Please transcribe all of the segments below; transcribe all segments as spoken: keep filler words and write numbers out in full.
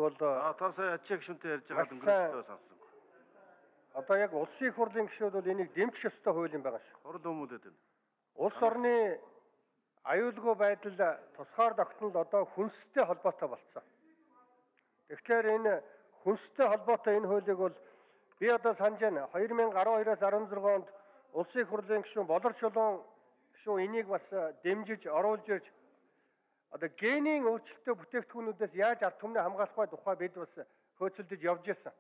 бол одоо сая ачаа гишүүнтэй ярьж байгаа өнгөрөөсөө сонссон. Одоо яг улсын их хурлын гишүүд бол энийг дэмжих ёстой хууль юм байгаа шүү. Хурал өмүүлээд байна. Улс орны аюулгүй байдал тусгаар тогтнол одоо хүнстэй холбоотой болцсон. Тэгэхээр энэ хүнстэй холбоотой энэ хуулийг бол би одоо санаж байна. две тысячи twelve-оос16 онд улсын их хурлын гишүүн Болор Чулуун гишүүн энийг бас дэмжиж оруулж ирж одоо генийн өөрчлөлттэй бүтээгдэхүүнүүдээс яаж ард түмний хамгаалах вэ тухай бид бас хөөцөлдөж явж ирсэн.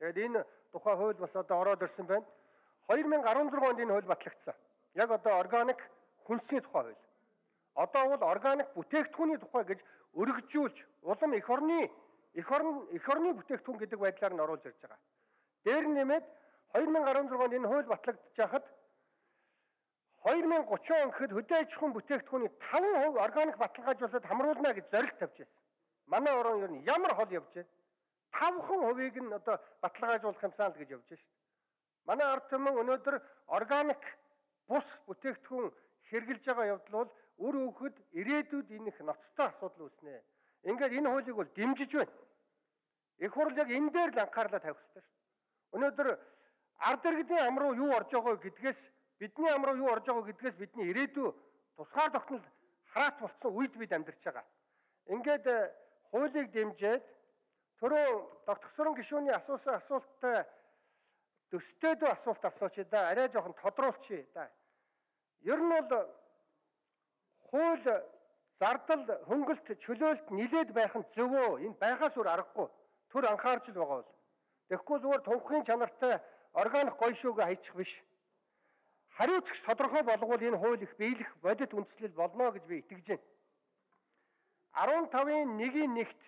Тэгээд энэ тухай хууль бас одоо ороод ирсэн байна. две тысячи sixteen онд энэ хууль батлагдсан. Яг одоо органик хүнсний тухай хууль. Одоо бол органик бүтээгдэхүүний тухай гэж өргөжүүлж улам эх орны эх орн эх орны бүтээгдэхүүн гэдэг байдлаар нь оруулж ирж байгаа. Дээр нэмээд две тысячи sixteen онд энэ хууль батлагдж хахад две тысячи thirty он гэхэд хөдөө аж ахуйн бүтээгдэхүүний five percent органик баталгаажуулалт хамруулна гэж зорилт тавьж байсан. Манай орон ер нь ямар хол явж байна? five percent-ийг нь одоо баталгаажуулах юмсан л гэж явж байна шүү дээ. Манай ард түмэн өнөөдөр органик бус бүтээгдэхүүн хэрэгжилж байгаа явдал бол үр хөвгөд ирээдүйд энэ их ноцтой асуудал үүснэ. Ингээд энэ хуулийг бол дэмжиж байна. Их хурл яг энэ дээр л анхаарлаа тавих хэрэгтэй шүү дээ. Өнөөдөр ард иргэдийн ам руу юу орж байгаа гэдгээс бидний ам руу юу орж байгаа гэдгээс бидний ирээдүй тусгаар тогтнол хараат болцсон үед бид амьдарч байгаа. Ингээд хуулийг дэмжиж түрүү тогтгосрон гишүүний асуусан асуулттай төстэйдөө асуулт асууч да арай жоохон тодруулчих да. Ер нь бол хууль зардал хөнгөлт чөлөөлт нилээд байх нь зөвөө. Энэ байхаас өөр аргагүй. Төр анхаарч л байгаа бол. Тэгэхгүй зүгээр тунхгийн чанартай органик гоё шүүгээ хайчих биш. Хариуцагч тодорхой болгоул энэ хууль их биелэх бодит үндслэл болно гэж би итгэж байна. fifteen-ийн one-ийн нэгт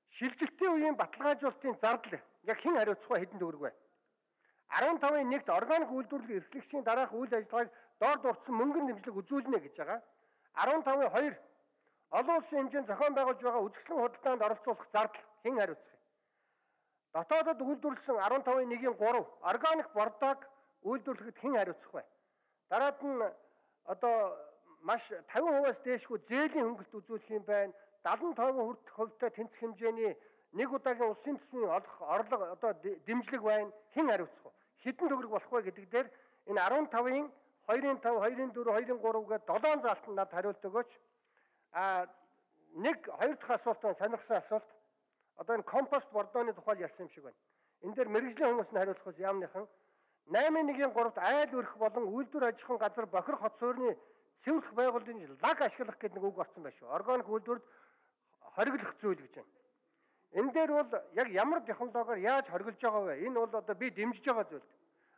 шилжилтийн үеийн баталгаажуулалтын зардал яг хэн хариуцах вэ, хэдэн төгрөг вэ? fifteen-ийн нэгт органик үйлдвэрлэл эрхлэгчийн дараах үйл ажиллагааг доор дурдсан мөнгөн дэмжлэг үзүүлнэ гэж байгаа. fifteen-ийн two олон улсын хэмжээнд зохион байгуулж байгаа үзэсгэлэн худалдаанд оролцуулах зардал хэн хариуцах вэ? Дотоодод үйлдвэрлэсэн fifteen-ийн one-ийн three органик бордоог үйлдвэрлэхэд хэн хариуцах вэ? Дараад нь одоо маш fifty percent-аас дээшгүй зээлийн хөнгөлт үзүүлэх юм байна. seventy-five хувьтай тэнцэх хэмжээний нэг удаагийн улсын төсвийн орлого одоо дэмжлэг байна. Хэн хариуцах вэ? Хэдэн төгрөг болох вэ гэдэг дээр энэ fifteen-ийн two-ийн five, two-ийн four, two-ийн three гээд seven заалтанд над хариулт өгөөч. А нэг хоёр дахь асуулт нь сонирхсан асуулт. Одоо энэ компост бордооны тухай ярьсан юм шиг байна. Энэ дээр мэрэгжлийн хүмүүс нь хариулах ус яамныхан eight-ийн three-т айл өрх болон үйлдвэр аж ахуйн газар бохир хот суурины цэвэрлэх байгууллагын лаг ашиглах гэдэг нэг үг орсон байна шүү. Органик үйлдвэрд хориглох зүйл гэж байна. Энэ дээр бол яг ямар технологиор яаж хориглож байгаа вэ? Энэ бол одоо би дэмжиж байгаа зүйл.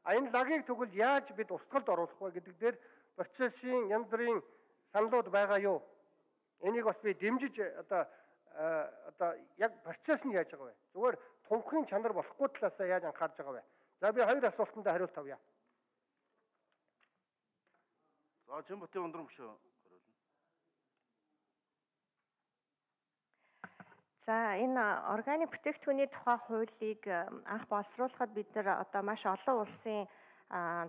А энэ лагийг тэгвэл яаж бид устгалд оруулах вэ гэдэг дээр процессын янз бүрийн саналууд байгаа юу? Энийг бас би дэмжиж одоо одоо яг процесс нь яаж байгаа вэ? Зүгээр тунхгийн чанар болохгүй талаасаа яаж анхаарж байгаа вэ? За би хоёр асуултанд хариулт авъя. За Чимбатын өндөр мөшөө хариулна. За энэ органик бүтээгдэхүүний тухай хуулийг анх боловсруулахад бид нар одоо маш олон улсын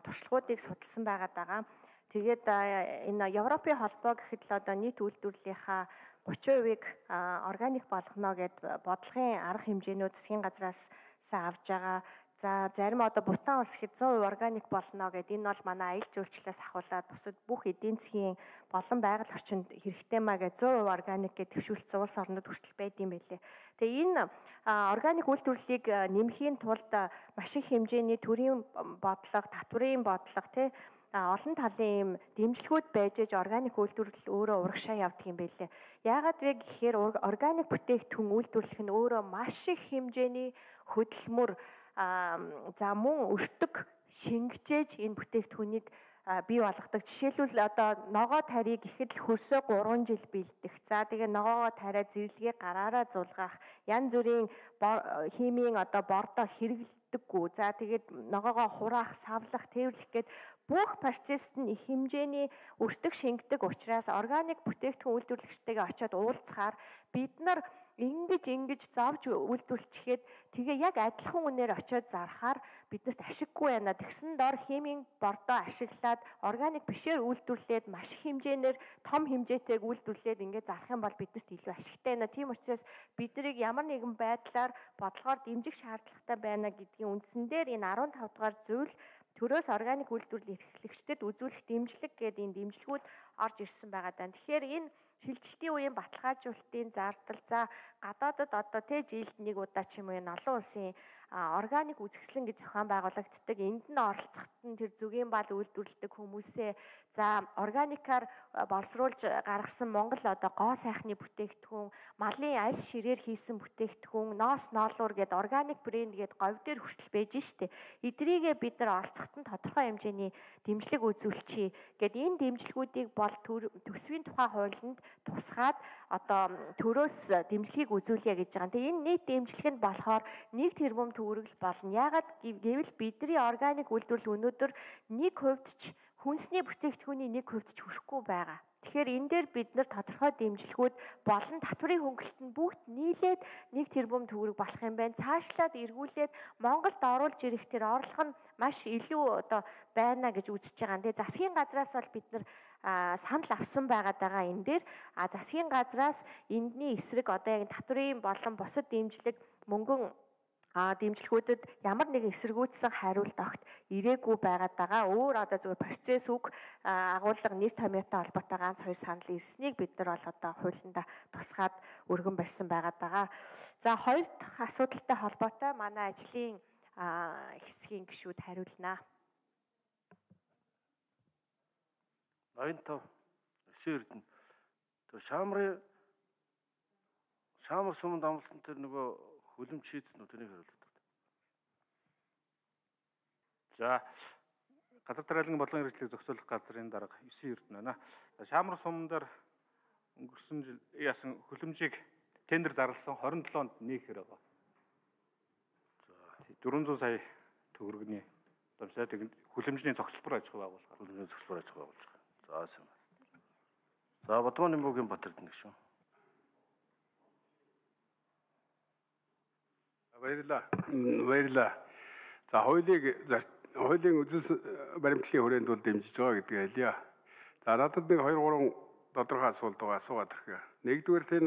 туршлагуудыг судалсан байгаад байгаа. Тэгээд энэ Европын холбоо гэхэд л одоо нийт үйлдвэрлэлийнхаа thirty percent-ийг органик болгоно гэд бодлогын арга хэмжээнүүд засгийн газраас авж байгаа. За зарим одоо Бутан улс хэд one hundred percent органик болно гэд энэ бол манай аялал жуулчлалаас ахуулаад бусад бүх эдийн засгийн болон байгаль орчинд хэрэгтэй маа гэж one hundred percent органик гэж төвшүүлсэн улс орнууд хүртэл байд юм байлээ. Тэгээ энэ органик үйлдвэрлэлийг нэмэхийн тулд маш их хэмжээний төрийн бодлого, татврын бодлого тий олон талын юм дэмжлэгүүд байж аж органик үйлдвэрлэл өөрөө урагшаа явдаг юм байлээ. Яагаад вэ гэхээр органик бүтээгдэхүүн үйлдвэрлэх нь өөрөө маш их хэмжээний хөдөлмөр за мөн өртөг шингэжээж энэ бүтээгдэхүүнийг бий болгодог. Жишээлбэл одоо ногоо тарийг ихэд л хөрсөө three жил бэлдэх. За тэгээ ногоогоо тариа зэрлэгээ гараараа зулгаах, янз бүрийн химийн одоо бордоо хэрэглэдэггүй. За тэгээд ногоогоо хураах, савлах, тээвэрлэх гээд бүх процессд нь их хэмжээний өртөг шингэдэг учраас органик бүтээгдэхүүн үйлдвэрлэгчтэйгээ очиод уулзахаар бид нар ингэж ингэж зовж үйлдвэрлэчихэд тэгээ яг адилхан үнээр очиод зархаар биднэрт ашиггүй байна. Тэгсэн дор химийн бордоо ашиглаад органик бишээр үйлдвэрлээд маш их хэмжээгээр том хэмжээтэйг үйлдвэрлээд ингээд зарах юм бол биднэрт илүү ашигтай байна. Тийм учраас биднийг ямар нэгэн байдлаар бодлогоор дэмжих шаардлагатай байна гэдгийн үндсэн дээр энэ арван тав дугаар зүйл төрөөс органик үйлдвэрлэл эрхлэгчдэд үзүүлэх дэмжлэг гэдэг энэ дэмжлэгүүд орж ирсэн байгаа даа. Тэгэхээр энэ шилжилтийн үеийн баталгаажуулалтын зардал за гадаадад одоо тэ жилд нэг удаа ч юм уу энэ олон улсын органик үзэсгэлэн гэж зохион байгуулагддаг. Энд нь оролцоход нь тэр зүгийн бал үйлдвэрлэдэг хүмүүсээ за органикаар боловсруулж гаргасан Монгол одоо гоо сайхны бүтээгдэхүүн, малын арьс ширээр хийсэн бүтээгдэхүүн, ноос ноолуур гэдэг органик брэнд гэдэг говь дээр хүртэл байж штэ. Эдрийгээ бид нар оролцоход нь тодорхой хэмжээний дэмжлэг үзүүлчихье. Гэт энэ дэмжлэгүүдийг бол төсвийн тухай хуулинд тусгаад одоо төрөөс дэмжлэгийг үзүүлье гэж байгаа. Тэгээ энэ нийт дэмжлэг нь болохоор нэг тэрбум төгрөгл болно. Яагаад гэвэл бидний органик үйлдвэрлэл өнөөдөр нэг хувьд ч хүнсний бүтээгдэхүүний нэг хувьд ч хүрэхгүй байгаа. Тэгэхээр энэ дээр бид нар тодорхой дэмжлэгүүд болон татврын хөнгөлөлт нь бүгд нийлээд нэг тэрбум төгрөг болох юм байна. Цаашлаад эргүүлээд Монголд оруулж ирэх тэр орлого нь маш илүү одоо байна гэж үзэж байгаа. Тэгээ засгийн газраас бол бид нар санал авсан байгаад байгаа энэ дээр а засгийн газраас эндний эсрэг одоо яг татврын болон бусад дэмжлэг мөнгөн а дэмжлэгүүдэд ямар нэгэн эсэргүүцсэн хариулт огт ирээгүй байгаад байгаа. Өөр одоо зөвхөн процесс үг агуулга нэр томьёотой холбоотой ганц хоёр санал ирснийг бид нар бол одоо хуулиндаа тусгаад өргөн барьсан байгаад байгаа. За хоёр дахь асуудалтай холбоотой манай ажлын хэсгийн гишүүд хариулнаа. ноён тав өсөн эрдэнэ тэр шаамрын шаамар суманд амласан тэр нөгөө хөлөмж шийдсэн үү тэрийг хариулдаг. За газар тариалан бодлогын хэрэгслийг зохицуулах газрын дарга өсөн эрдэнэ байна. Шаамар суман дээр өнгөрсөн жил яасан хөлөмжийг тендер зарласан хорин долоонд нээхээр байгаа. За дөрвөн зуун сая төгрөгний дамжлаад хөлөмжний цогцлбор аж ахуй байгуулах. Хөлөмжний цогцлбор аж ахуй байгуулах. За сайн. За Бадманы мөгийн Батэрдэн гişүн. Баярлалаа. Баярлалаа. За хуулийг хуулийн үзэл баримтлалын хүрээнд бол дэмжиж байгаа гэдгийг хэлье. За надад нэг хоёр гурван тодорхой асуулт байгаа асуугаад ирэх. Нэгдүгээр тэн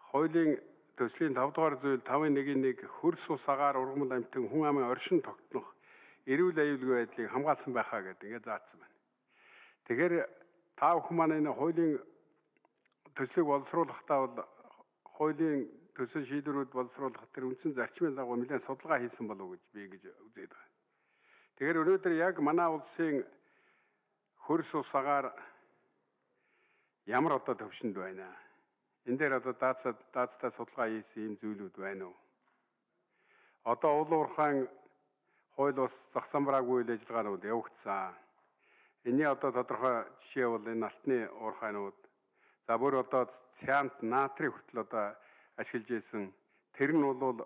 хуулийн төслийн тав дугаар зүйл тавын нэг нэг хөрс ус агаар ургамал амьтан хүн амын оршин тогтнох эрүүл аюулгүй байдлыг хамгаалсан байхаа гэдэг ингээд заасан байна. Тэгэхээр та бүхэн маань энэ хуулийн төслийг боловсруулахдаа бол хуулийн төсөл шийдвэрүүд боловсруулах тэр үндсэн зарчмын дагуу нэлээд судалгаа хийсэн болов уу гэж би гэж үзээд байна. Тэгэхээр өнөөдөр яг манай улсын хөрс ус агаар ямар одоо төвшөнд байна? Энэ дээр одоо даацаа даацтай судалгаа хийсэн юм зүйлүүд байна уу? Одоо уул уурхайн хууль ус зах замбраагүй үйл ажиллагаанууд явагдсан. Энийн одоо тодорхой жишээ бол энэ алтны уурхайнууд. За бүр одоо цянт натрий хүртэл одоо ашиглаж исэн. Тэр нь бол